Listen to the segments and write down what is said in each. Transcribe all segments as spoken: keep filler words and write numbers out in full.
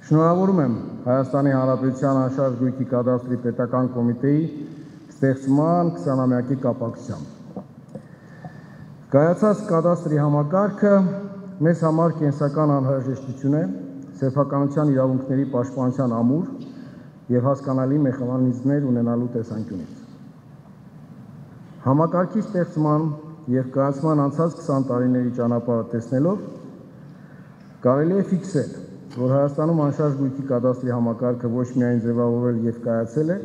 Շնորհավորում եմ Հայաստանի Հանրապետության անշարժ գույքի կադաստրի պետական կոմիտեի ստեղծման քսանամյակի կապակցությամբ։ Կայացած կադաստրի համակարգը մեզ համար կենսական անհրաժեշտություն է սեփականության իրավունքների պաշտպանության ամուր եւ հասկանալի մեխանիզմներ ունենալու տեսանկյունից։ Համակարգի ստեղծման եւ կայացման անցած քսան տարիների ճանապարհը տեսնելով կարելի է ֆիքսել, որ Հայաստանում անշարժ գույքի կադաստրի համակարգը ոչ միայն ձևավորել եւ կայացել է,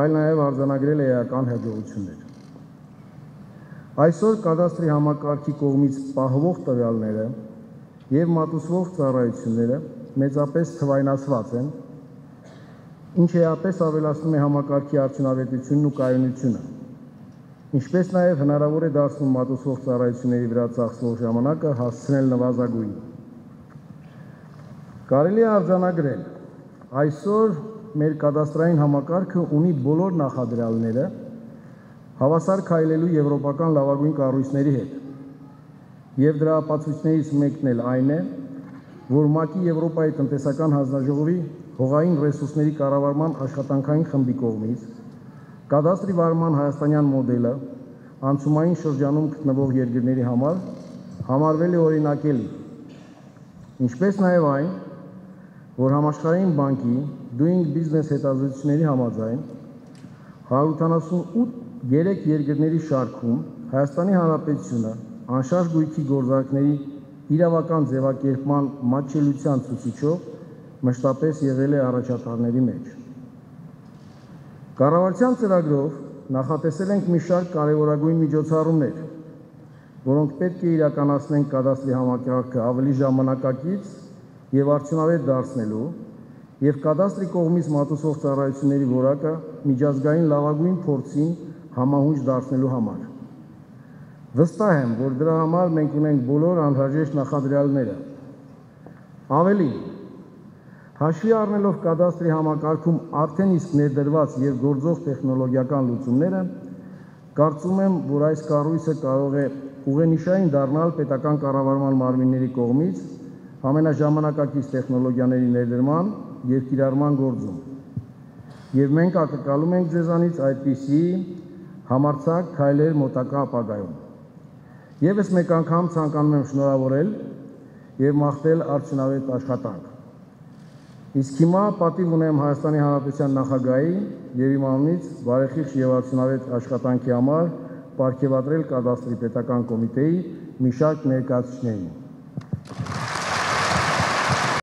այլ նաեւ արձանագրել է էական հաջողություններ։ Այսօր կադաստրի համակարգի կողմից պահվող տվյալները եւ մատուցվող ծառայությունները մեծապես թվայնացված են, ինչը էապես ավելացնում է համակարգի արդյունավետությունն ու կայունությունը, ինչպես նաեւ հնարավոր է դարձնում մատուցվող ծառայությունների վրա ծախսվող ժամանակը հասցնել նվազագույն։ Կարելի է արձանագրել, այսօր մեր կադաստրային համակարգը ունի բոլոր նախադրյալները հավասար քայլելու եվրոպական լավագույն կառույցների հետ, եւ դրա ապացույցներից մեկն էլ այն է, որ ՄԱԿ-ի Եվրոպայի տնտեսական հանձնաժողովի հողային ռեսուրսների կառավարման աշխատանքային խմբի կողմից կադաստրի վարման հայաստանյան մոդելը անցումային շրջանում գտնվող երկրների համար համարվել է օրինակելի, ինչպես նաեւ այն, որ Համաշխարհային բանկի Doing Business հետազոտությունների համաձայն հարյուր ութանասունութ երեք երկրների շարքում Հայաստանի Հանրապետությունը անշարժ գույքի գործարքների իրավական ձևակերպման մատչելիության ցուցիչով մշտապես եղել է առաջատարների մեջ։ Կառավարության ծրագրով նախատեսել ենք մի շարք կարևորագույն միջոցառումներ, որոնք պետք է իրականացնեն կադաստրի համակարգը ավելի ժամանակակից եւ արդյունավետ դարձնելու եւ կադաստրի կողմից մատուցվող ծառայությունների որակը միջազգային լավագույն փորձին համահունչ դարձնելու համար։ Վստահ եմ, որ դրա համար մենք ունենք բոլոր անհրաժեշտ նախադրյալները։ Ավելին, հաշվի առնելով կադաստրի համակարգում արդեն իսկ ներդրված եւ գործող տեխնոլոգիական լուծումները, կարծում եմ, որ այս կառույցը կարող է ուղենիշային դառնալ պետական կառավարման մարմինների կողմից ամենաժամանակակից տեխնոլոգիաների ներդրման եւ կիրառման գործում։ Եվ մենք ակնկալում ենք ձեզանից այդպիսի համարձակ քայլեր մոտակա ապագայում։ Եվս մեկ անգամ ցանկանում եմ շնորհավորել եւ մաղթել արդյունավետ աշխատանք։ Իսկ հիմա պատիվ ունեմ Հայաստանի Հանրապետության նախագահի եւ իմ անունից բարեխիղճ եւ արդյունավետ աշխատանքի համար պարգեւատրել կադաստրի պետական կոմիտեի մի շարք ներկայացուցիչներին։